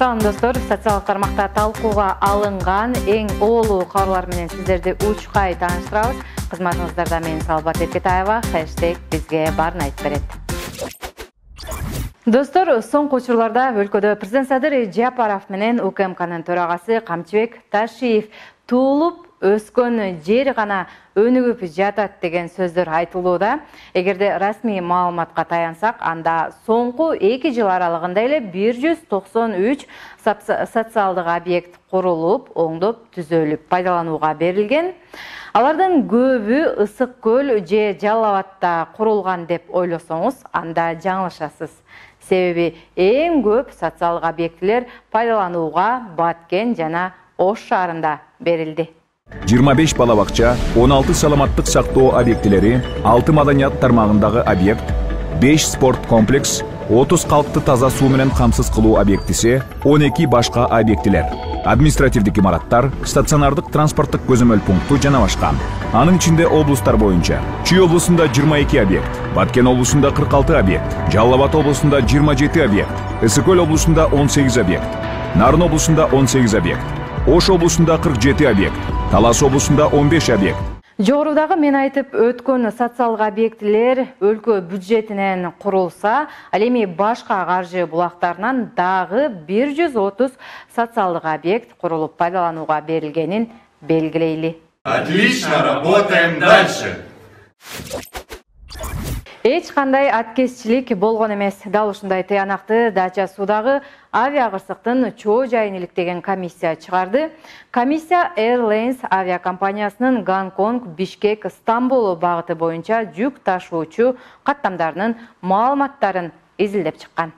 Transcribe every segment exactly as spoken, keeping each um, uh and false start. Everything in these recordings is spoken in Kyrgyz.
Салам достор, социалдык тармакта талкууга алынган эң оолуу кабарлар менен сиздерди учкай тааныштырабыз. Кызматыңыздарда мен Салбат Эркетаева, хэштег бизге баарын айтып берет. Достор, соңку учурларда өлкөдө президент Садыр Жапаров менен УКМКнын төрагасы Камчыбек Ташиев туулуп өскөн жери гана өнүгүп жатат деген сөздөр айтылууда. Эгерде расмий маалыматка таянсак, анда соңку эки жыл аралыгында эле бир жүз токсон үч социалдык объект курулуп, оңдоп түзөлүп пайдаланууга берилген. Алардын көбү Ысык көл же Жалал Абадта курулган деп ойлосоңуз, анда жаңылышасыз. Себеби эң көп социалдык объектилер пайдаланууга Баткен жана Ош шаарында берилди. жыйырма беш бала бакча, он алты саламаттык сактоо объектилери, алты маданият тармагындагы объект, беш спорт комплекс, отуз калкты таза суу менен камсыз кылуу объектиси, он эки башка объектилер, административдик имараттар, стационардык транспорттук көзөмөл пункту жана башка. Анын ичинде облустар боюнча Чүй облусунда жыйырма эки объект, Баткен облусунда кырк алты объект, Жалал Абад облусунда жыйырма жети объект, Ысык көл облусунда он сегиз объект, Нарын облусунда он сегиз объект, Ош облусунда кырк жети объект, Талас облусунда он беш объект. Жогорудагы мен айтып өткөн социалдык объектилер өлкө бюджетинен курулса, ал эми башка каржы булактарынан дагы бир жүз отуз социалдык объект курулуп пайдаланууга берилгенин белгилейли. Отлично, работаем дальше. Эч кандай аткезчилик болгон эмес. Дал ушундай тыянакты Дача суудагы авиакырсыктын чоо жайын иликтеген комиссия чыгарды. Комиссия Airlines авиакомпаниясынын Гонконг, Бишкек, Стамбул багыты боюнча жүк ташуучу каттамдарынын маалыматтарын изилдеп чыккан.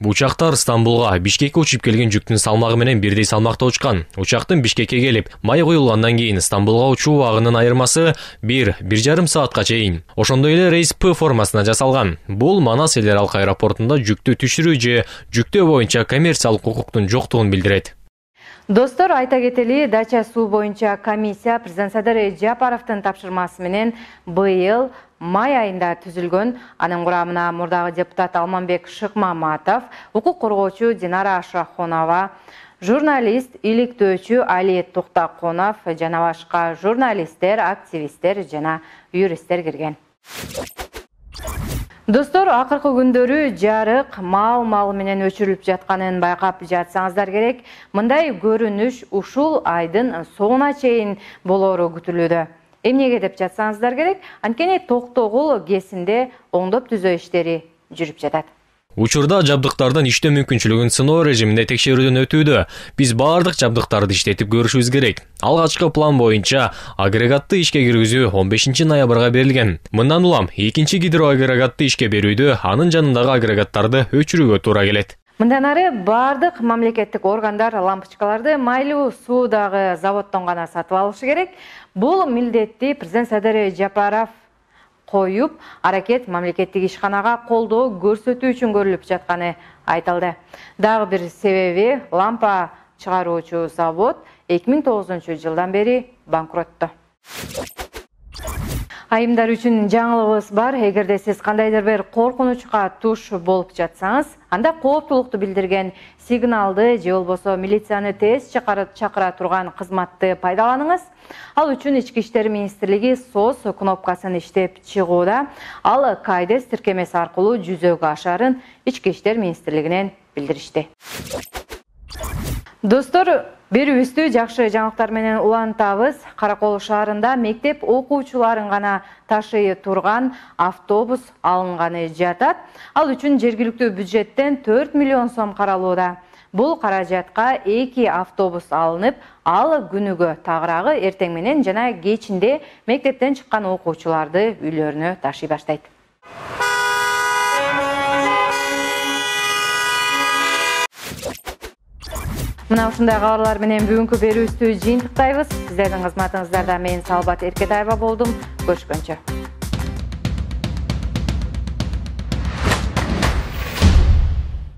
Учактар Стамбулга, Бишкекке учуп келген жүктүн салмагы менен бирдей салмакта учкан. Учактын Бишкекке келип, май куюлгандан кийин Стамбулга учуу убагынын айырмасы бир бир жарым саатка чейин. Ошондой эле рейс П формасына жасалган. Бул Манас эл аралык аэропортунда жүктү түшүрүү же жүктөө боюнча коммерциялык укуктун жоктугун билдирет. Достор, айта кетели, Дача суу боюнча комиссия президент Садыр Жапаровдун тапшырмасы менен быйыл май айында түзүлгөн. Анын курамына мурдагы депутат Алманбек Шыкмаматов, укук коргоочу Динара Шахонова, журналист, иликтөөчү Али Токтаконов жана башка журналисттер, активисттер жана юристтер кирген. Достор, акыркы күндөрү жарык мал-мал менен өчүрүлүп жатканын байкап жатсаңыздар керек. Мындай көрүнүш ушул айдын соңуна чейин болору күтүлүүдө. Эмнеге деп жатсаңыздар керек, анткени Токтогул кесинде оңдоп түзөө иштери жүрүп жатат. Учурда жабдыктардын иштөө мүмкүнчүлүгүн сыноо режиминде текшерүүдөн өтүүдө. Биз баардык жабдыктарды иштетип көрүшүбүз керек. Алгачкы план боюнча агрегатты ишке киргизүү он бешинчи ноябрга берилген. Мындан улам экинчи гидроагрегатты ишке берүүдө анын жанындагы агрегаттарды өчүрүүгө туура келет. Мындан ары баардык мамлекеттик органдар лампочкаларды майлуу суудагы заводдон гана сатып алышы керек. Бул милдетти президент Садыр Жапаров коюп, аракет мамлекеттик ишканага колдоо көрсөтүү үчүн көрүлүп жатканы айтылды. Дагы бир себеби лампа чыгаруучу завод эки миң тогузунчу жылдан бери банкротту. Айымдар үчүн жаңылыгыбыз бар. Эгерде сиз кандайдыр бир коркунучка туш болуп жатсаңыз, анда кооптулукту билдирген сигналды же болбосо милицияны тез чакыра турган кызматты пайдаланыңыз. Ал үчүн Ички иштер министрлиги СОС кнопкасын иштеп чыгууда. Ал Кайдес тиркемеси аркылуу жүзөгө ашарын Ички иштер министрлигинен билдиришти. Достор, берүүбүздү жакшы жаңылыктар менен улантабыз. Каракол шаарында мектеп окуучуларын гана ташый турган автобус алынганы жатат. Ал үчүн жергиликтүү бюджеттен төрт миллион сом каралууда. Бул каражатка эки автобус алынып, ал күнүгө тагыраагы эртең менен жана кечинде мектептен чыккан окуучуларды үйлөрүнө ташый баштайт. Мына ушундай кабарлар менен бүгүнкү берүүбүздү жыйынтыктайбыз. Сиздердин кызматыңыздарда мен Салбат Эркетаева болдум. Көрүшкөнчө.